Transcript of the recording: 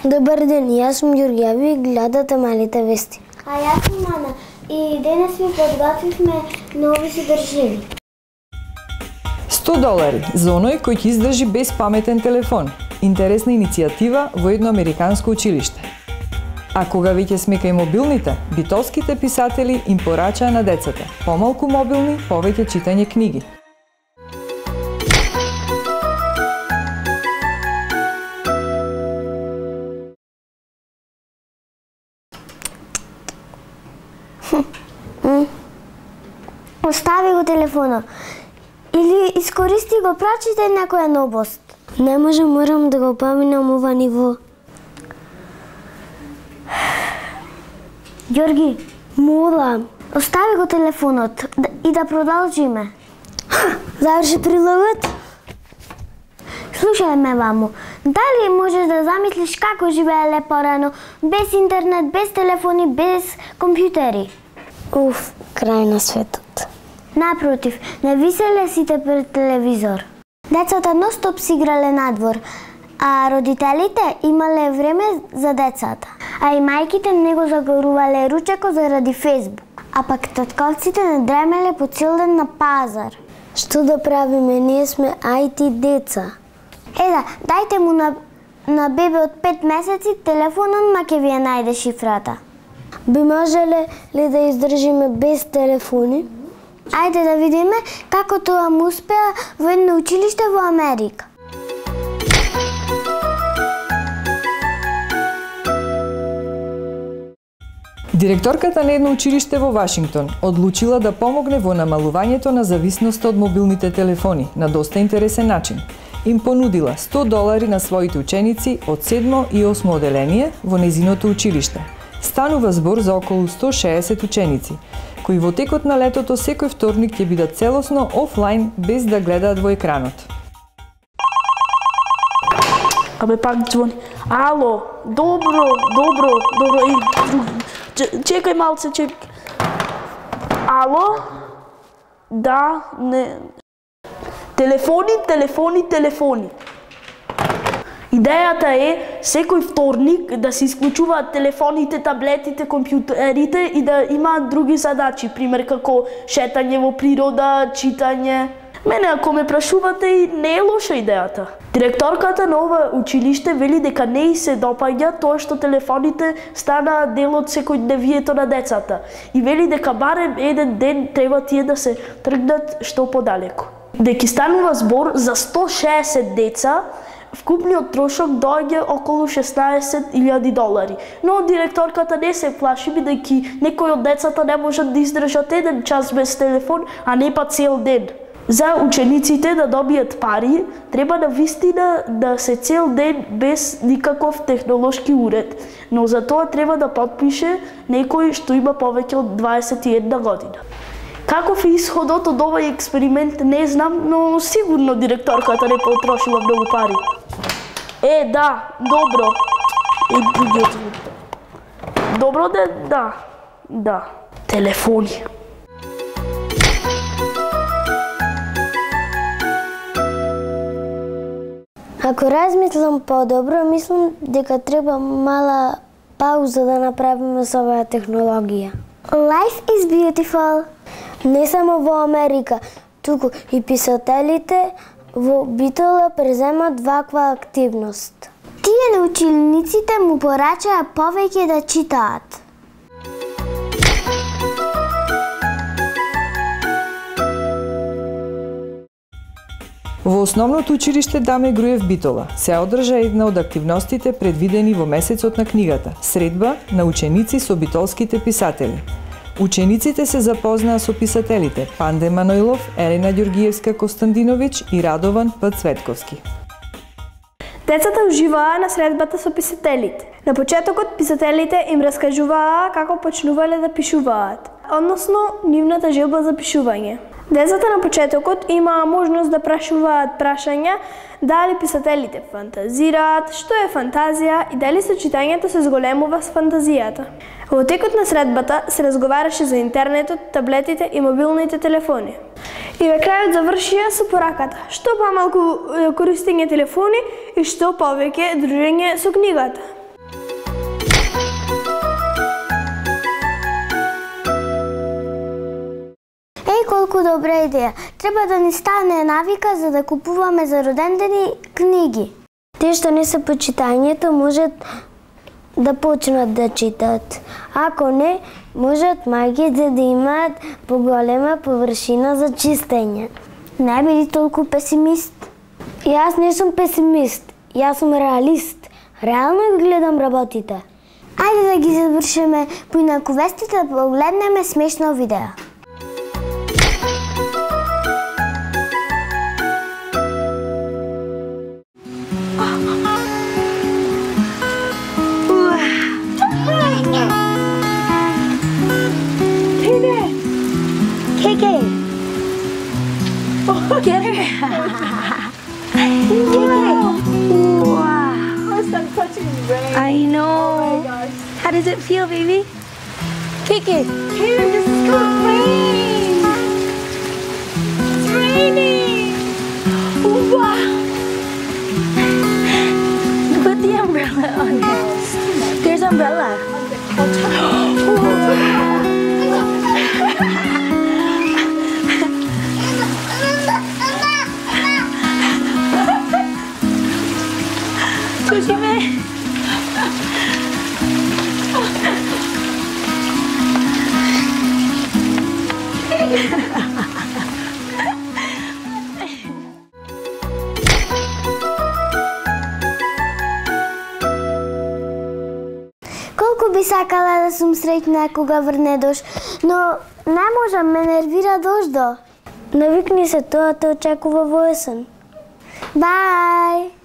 Добар ден, јас сум Ѓорги, а ви гледате Малите вести. А јас сум Ана и денес ви подготвивме нови содржини. $100 за оној кој ќе издржи без паметен телефон. Интересна иницијатива во едно американско училиште. А кога веќе сме кај мобилните, битолските писатели им порачаа на децата: помалку мобилни, повеќе читање книги. Остави го телефонот или искористи го, прочитай некоја новост. Не може, морам да го поминам ова ниво. Ѓорги, Молам. остави го телефонот и да продолжиме. Заврши прилогот? Слушај ме, мамо. Дали можеш да замислиш како живееле порано, без интернет, без телефони, без компјутери? Уф, крај на светот. Напротив, не виселе сите пред телевизор. Децата ностоп си играле надвор, а родителите имале време за децата. А и мајките не го загорувале ручекот заради Фејсбук. А пак татковците не дремеле по цел ден на пазар. Што да правиме, ние сме IT деца. Да, дајте му на бебе од 5 месеци телефонот, ма ќе ви ја најде шифрата. Би можеле ли да издржиме без телефони? Ајде да видиме како тоа му успеа во едно училиште во Америка. Директорката на едно училиште во Вашингтон одлучила да помогне во намалувањето на зависноста од мобилните телефони на доста интересен начин. Им понудила $100 на своите ученици од 7 и 8 оделение во незиното училиште. Станува збор за околу 160 ученици, кои во текот на летото секој вторник ќе бидат целосно офлайн без да гледаат во екранот. Абе пак звони. Ало, добро. Чекај малце, чекај. Ало? Да, не. Телефони. Идејата е секој вторник да се исклучуваат телефоните, таблетите, компјутерите и да имаат други задачи, пример како шетање во природа, читање. Мене, ако ме прашувате, не е лоша идејата. Директорката на ова училиште вели дека не и се допаѓа тоа што телефоните станаа дел од секојдневието на децата и вели дека барем еден ден треба тие да се тргнат што подалеку. Дека станува збор за 160 деца, вкупниот трошок доаѓа околу $16,000. Но директорката не се плаши, бидејќи некои од децата не можат да издржат еден час без телефон, а не па цел ден. За учениците да добијат пари, треба навистина да се цел ден без никаков технолошки уред, но за тоа треба да подпише некој што има повеќе од 21 година. Каков е исходот од овој експеримент не знам, но сигурно директорката не потрошила многу пари. Да, добро. Другиот. Добро да. Телефони. Ако размислам подобро, мислам дека треба мала пауза да направиме со оваа технологија. Life is beautiful. Не само во Америка, туку и писателите во Битола преземат ваква активност. Тие на учениците му порачаа повеќе да читаат. Во основното училиште Даме Груев Битола се одржа една од активностите предвидени во месецот на книгата – средба на ученици со битолските писатели. Учениците се запознаа со писателите Панде Маноилов, Елена Ѓоргиевска Костандиновиќ и Радован П. Цветковски. Децата уживаа на средбата со писателите. На почетокот писателите им раскажуваа како почнувале да пишуваат, односно нивната желба за пишување. Децата на почетокот имаа можност да прашуваат прашања дали писателите фантазираат, што е фантазија и дали сочитањето се зголемува с фантазијата. Во текот на средбата се разговараше за интернетот, таблетите и мобилните телефони. И на крајот завршија со пораката: што помалку користење телефони и што повеќе дружење со книгата. Толку добра идеја. Треба да ни стане навика за да купуваме за родендени книги. Те што не се по читањето можат да почнат да читат. Ако не, можат мајките да имаат поголема површина за чистење. Не биди толку песимист. Јас не сум песимист, јас сум реалист. Реално ги гледам работите. Ајде да ги завршиме поинаку вестите да погледнеме смешно видео. Get her. Wow. First I'm touching rain. I know. Oh my gosh. How does it feel, baby? Kiki. Here, this is called rain. It's raining. Wow. Put the umbrella on it. There's umbrella. 조심해. Колку би сакала да сум среќна кога врне дожд, но не можам, ме нервира дождо. Навикни се, тоа те очекува во есен. Бај!